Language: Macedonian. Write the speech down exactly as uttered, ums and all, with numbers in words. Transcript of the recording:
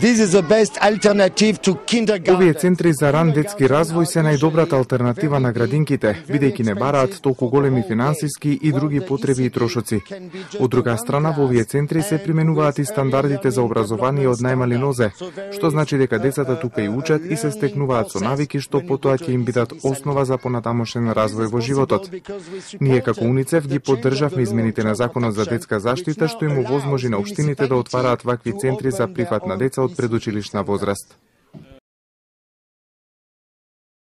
This is the best alternative to kindergarten. Овие центри за ран детски развој се најдобрата алтернатива на градинките, бидејќи не бараат толку големи финансиски и други потреби и трошоци. Од друга страна, во овие центри се применуваат и стандардите за образование од најмали нозе, што значи дека децата тука и учат и се стекнуваат со навики што потоа ќе им бидат основа за понатамошен развој во животот. Ние како УНИЦЕФ ги поддржавме измените на Законот за детска заштита што им овозможи на општините да отвараат вакви центри за прифат на деца од предучилишна возраст.